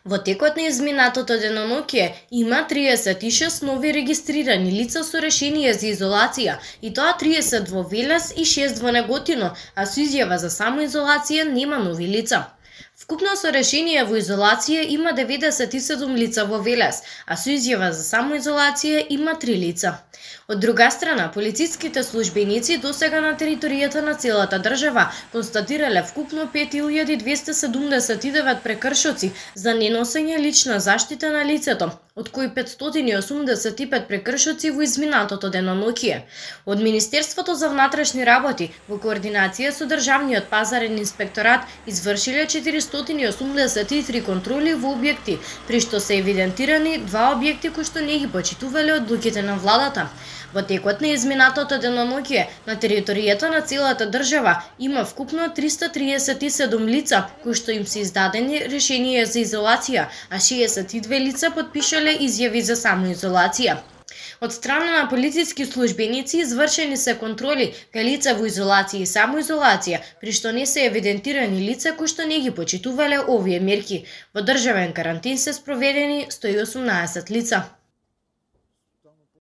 Во текот на изминатото деноноќе има 36 нови регистрирани лица со решение за изолација, и тоа 30 во Велес и 6 во Неготино, а со изјава за самоизолација нема нови лица. Вкупно со решение во изолација има 97 лица во Велес, а со изјава за самоизолација има 3 лица. Од друга страна, полициските службеници досега на територијата на целата држава констатирале вкупно 5279 прекршоци за неносење лична заштита на лицето, од кои 585 прекршоци во изминатото деноноќе. Од Министерството за внатрешни работи во координација со Државниот пазарен инспекторат извршиле 483 контроли во објекти, при што се евидентирани 2 објекти кои што не ги почитувале одлуките на владата. Во текот на изминатото деноноќе на територијата на целата држава има вкупно 337 лица кои што им се издадени решение за изолација, а 62 лица потпишале изјави за самоизолација. Од страна на полициски службеници извршени се контроли кај лица во изолација и самоизолација, при што не се евидентирани лица кои што не ги почитувале овие мерки. Во државен карантин се спроведени 118 лица.